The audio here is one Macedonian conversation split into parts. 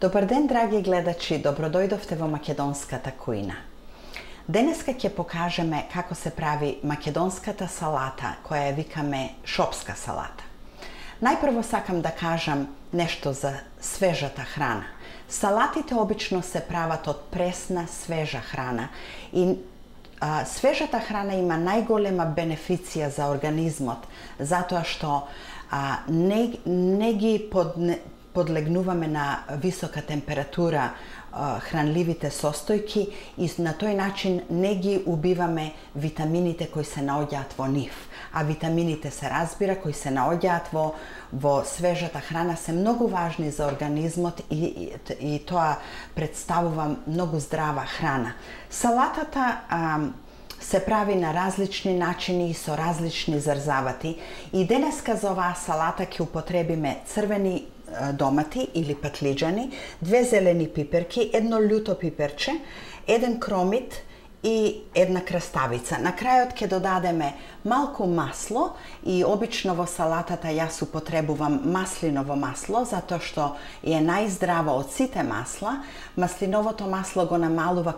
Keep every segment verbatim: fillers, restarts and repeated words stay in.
Добар ден, драги гледачи, добродојдовте во македонската кујна. Денеска ќе покажеме како се прави македонската салата, која ја викаме шопска салата. Најпрво сакам да кажам нешто за свежата храна. Салатите обично се прават од пресна, свежа храна и а, свежата храна има најголема бенефиција за организмот, затоа што а, не, не ги подне, подлегнуваме на висока температура хранливите состојки и на тој начин не ги убиваме витамините кои се наоѓаат во нив. А витамините се разбира кои се наоѓаат во во свежата храна се многу важни за организмот и, и, и тоа представува многу здрава храна. Салатата а, се прави на различни начини и со различни зарзавати и денеска за оваа салата ќе употребиме црвени домати или патлиџани, две зелени пиперки, едно љуто пиперче, еден кромит и една краставица. На крајот ќе додадеме малку масло и обично во салатата јас употребувам маслиново масло затоа што е најздраво од сите масла. Маслиновото масло го намалува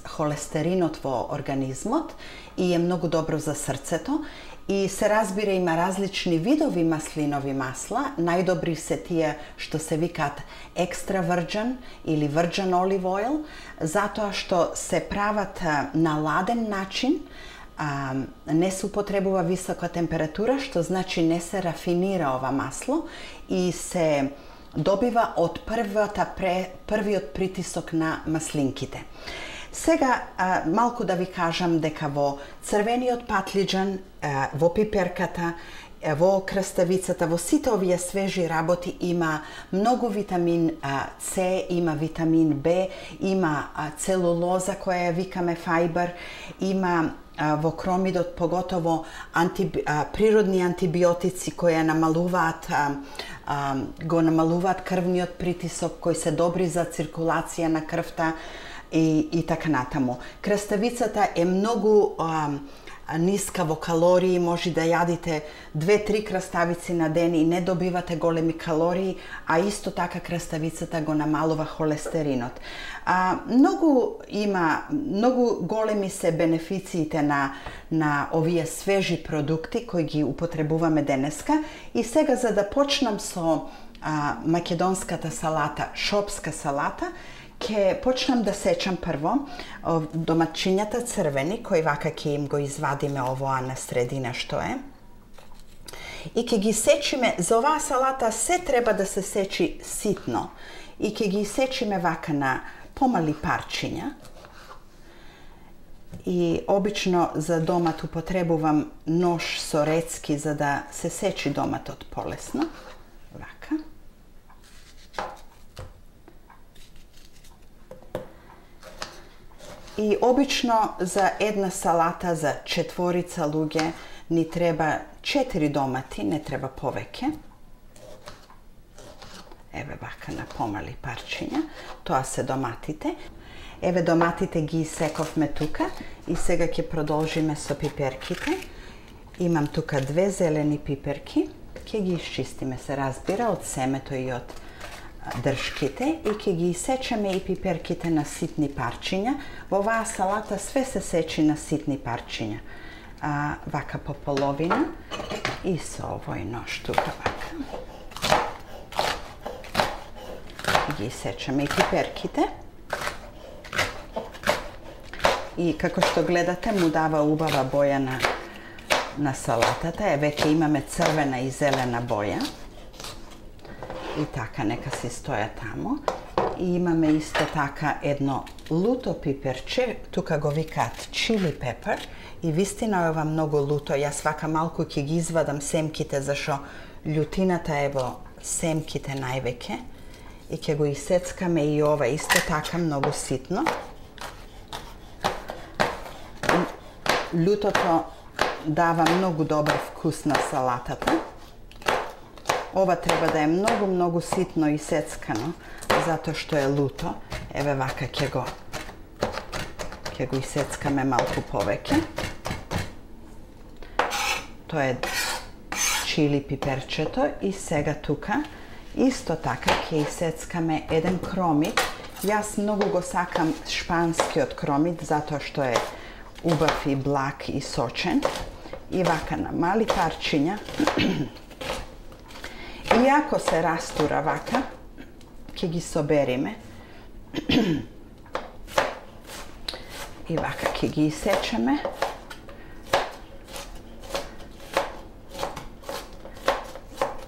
холестеринот во организмот и е многу добро за срцето. И се разбира има различни видови маслинови масла, најдобри се тие што се викаат екстра virgin или virgin olive oil, затоа што се прават на ладен начин, а, не се употребува висока температура, што значи не се рафинира ова масло и се добива од првата, првиот притисок на маслинките. Сега а, малку да ви кажам дека во црвениот патлиџан, а, во пиперката, а, во краставицата, во сите овие свежи работи има многу витамин а, С, има витамин Б, има а, целулоза која ја викаме фајбер, има а, во кромидот поготово анти, а, природни антибиотици кои намалуваат а, а, го намалуваат крвниот притисок, кои се добри за циркулација на крвта, И, и така натаму. Краставицата е многу а, ниска во калории, може да јадите две-три краставици на ден и не добивате големи калории, а исто така краставицата го намалува холестеринот. А, многу има, многу големи се бенефициите на, на овие свежи продукти кои ги употребуваме денеска. И сега за да почнам со а, македонската салата, шопска салата, ќе почнам да сечам прво доматчињата црвени, кои вака ќе им го извадиме овоа на средина што е. И ќе ги сечиме, за оваа салата се треба да се сечи ситно. И ќе ги сечиме вака на помали парчиња. И обично за домат употребувам нож со рецки за да се сечи доматот полесно. Вака. И обично за една салата за четворица луѓе ни треба четири домати, не треба повеќе. Еве вака на помали парчиња, тоа се доматите. Еве доматите ги исековме тука и сега ќе продолжиме со пиперките. Имам тука две зелени пиперки, ќе ги исчистиме се разбира од семето и од дршките и ќе ги исечеме и пиперките на ситни парчиња. Во оваа салата све се сечи на ситни парчиња. А, вака по половина и со овој нож тука вака. Ги исечеме и пиперките. И како што гледате му дава убава боја на, на салатата. Е, веќе имаме црвена и зелена боја. И така, нека си стоја таму. И имаме исто така едно луто пиперче, тука го викаат чили пепер. И вистина е ова многу луто. Јас вака малку ќе ги извадам семките, зашо љутината е во семките највеќе. И ќе го исецкаме и ова исто така многу ситно. Љутото дава многу добар вкус на салатата. Ова треба да е многу, многу ситно исецкано, затоа што е луто. Еве вака ќе го ќе го исецкаме малку повеќе. Тоа е чили пиперчето и сега тука Исто така ќе исецкаме еден кромит. Јас многу го сакам шпанскиот кромит, затоа што е убав и благ и сочен. И вака на мали парчиња. И ако се растура вака, ќе ги собериме. И вака ќе ги исечеме.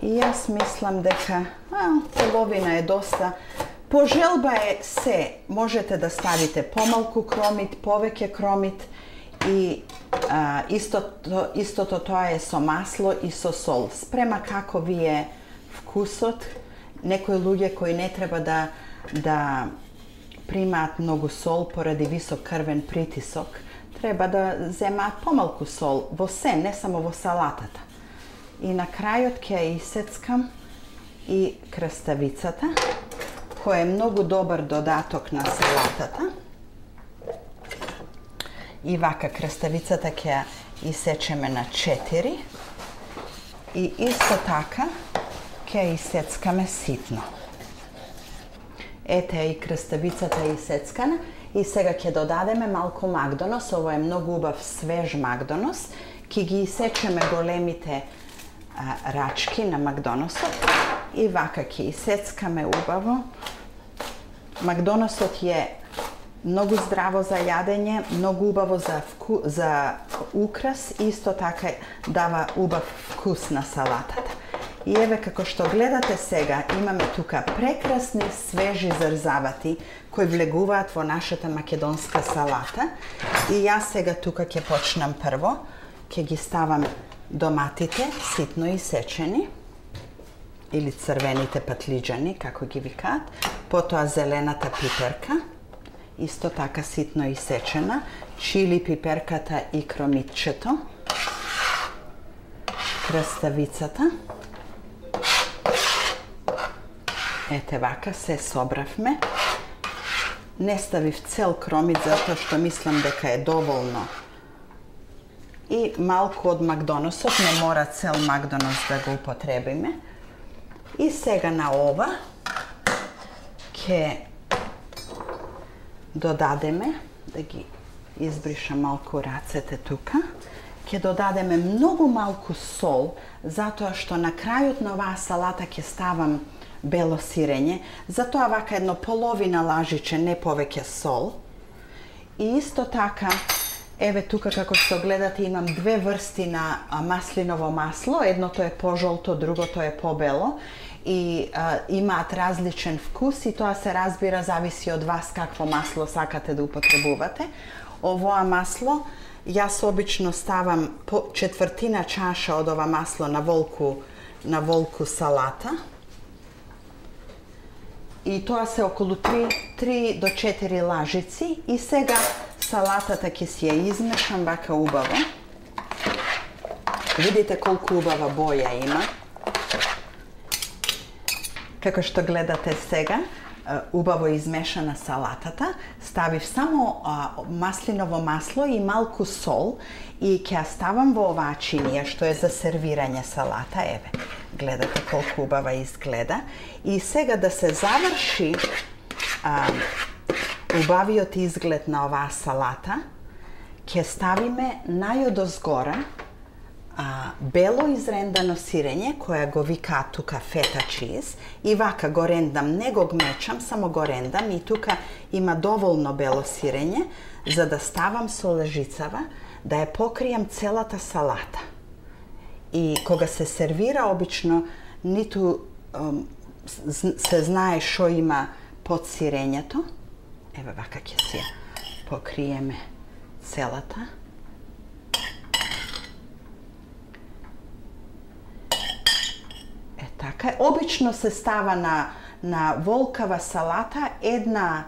И јас мислам дека а, половина е доста. По желба е се. Можете да ставите помалку кромит, повеќе кромит и а, истото, истото тоа е со масло и со сол. Спрема како ви е вкусот. Некои луѓе кои не треба да, да примаат многу сол поради висок крвен притисок, треба да земаат помалку сол во се, не само во салатата. И на крајот ќе ја исецкам и краставицата, која е многу добар додаток на салатата. И вака краставицата ќе ја исечеме на четири. И исто така ќе ја исецкаме ситно. Ете и краставицата е исецкана. И сега ќе додадеме малку магдонос. Ово е многу убав свеж магдонос. Ќе ги исечеме големите а, рачки на магдоносот. И вака ќе исецкаме убаво. Магдоносот е многу здраво за јадење, многу убаво за, вку, за украс, исто така дава убав вкус на салатата. И еве како што гледате сега, имаме тука прекрасни свежи зрзавати кои влегуваат во нашата македонска салата. И јас сега тука ќе почнам прво, ќе ги ставам доматите ситно исечени или црвените патлиџани, како ги викаат, потоа зелената пиперка, исто така ситно исечена, чили пиперката и кромитчето, краставицата. Ете вака, се собравме. Не ставив цел кромит, затоа што мислам дека е доволно. И малку од магдоносот, не мора цел магдонос да го употребиме. И сега на ова ќе додадеме, да ги избришам малку рацете тука, ќе додадеме многу малку сол, затоа што на крајот на оваа салата ќе ставам бело сирење, затоа вака едно половина лажиче, не повеќе сол. И исто така, еве тука како што гледате имам две врсти на маслиново масло, едното е пожолто, другото е побело и а, имаат различен вкус и тоа се разбира зависи од вас какво масло сакате да употребувате. Овоа масло јас обично ставам по четвртина чаша од ова масло на волку на волку салата. И тоа се околу три до четири лажици и сега салатата ќе си ја измешам вака убаво. Видите колку убава боја има. Како што гледате сега, убаво измешана салатата, ставив само а, маслиново масло и малку сол и ќе ја ставам во оваа чинија што е за сервирање салата. Еве, гледате колку убава изгледа. И сега да се заврши а, убавиот изглед на оваа салата, ќе ставиме најодозгора а, бело изрендано сирење, која го викаат тука фета чиз, и вака го рендам, не го гмечам, само го рендам и тука има доволно бело сирење, за да ставам со лежицава, да ја покријам целата салата. И кога се сервира, обично ниту ем, се знае шо има под сирењето. Еве вака ќе си ја покриеме целата. Е така, обично се става на на волкава салата една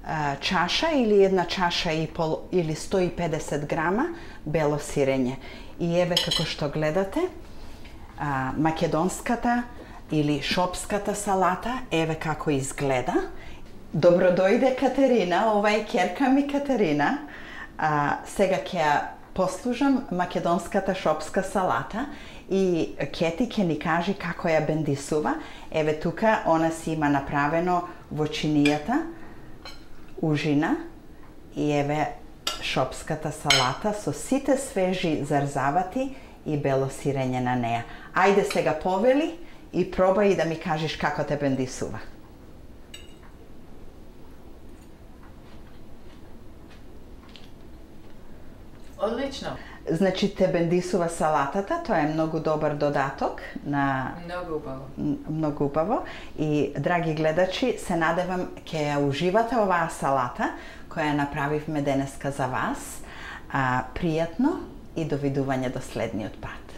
а, чаша или една чаша и пол или сто и педесет грама бело сирење. И еве како што гледате, а, македонската или шопската салата, еве како изгледа. Добро дојде Катерина, ова е ќерка ми Катерина. А, сега ќе ја послужам македонската шопска салата и Кети ќе ни кажи како ја бендисува. Еве тука она си има направено во чинијата ужина и еве шопската салата со сите свежи зарзавати и бело сирење на неа. Ајде сега повели и пробај да ми кажеш како те бендисува. Одлично. Значи те бендисува салатата, тоа е многу добар додаток на Многу убаво. Многу убаво и драги гледачи, се надевам ќе ја уживате оваа салата која ја направивме денеска за вас. А, пријатно и довидување до следниот пат.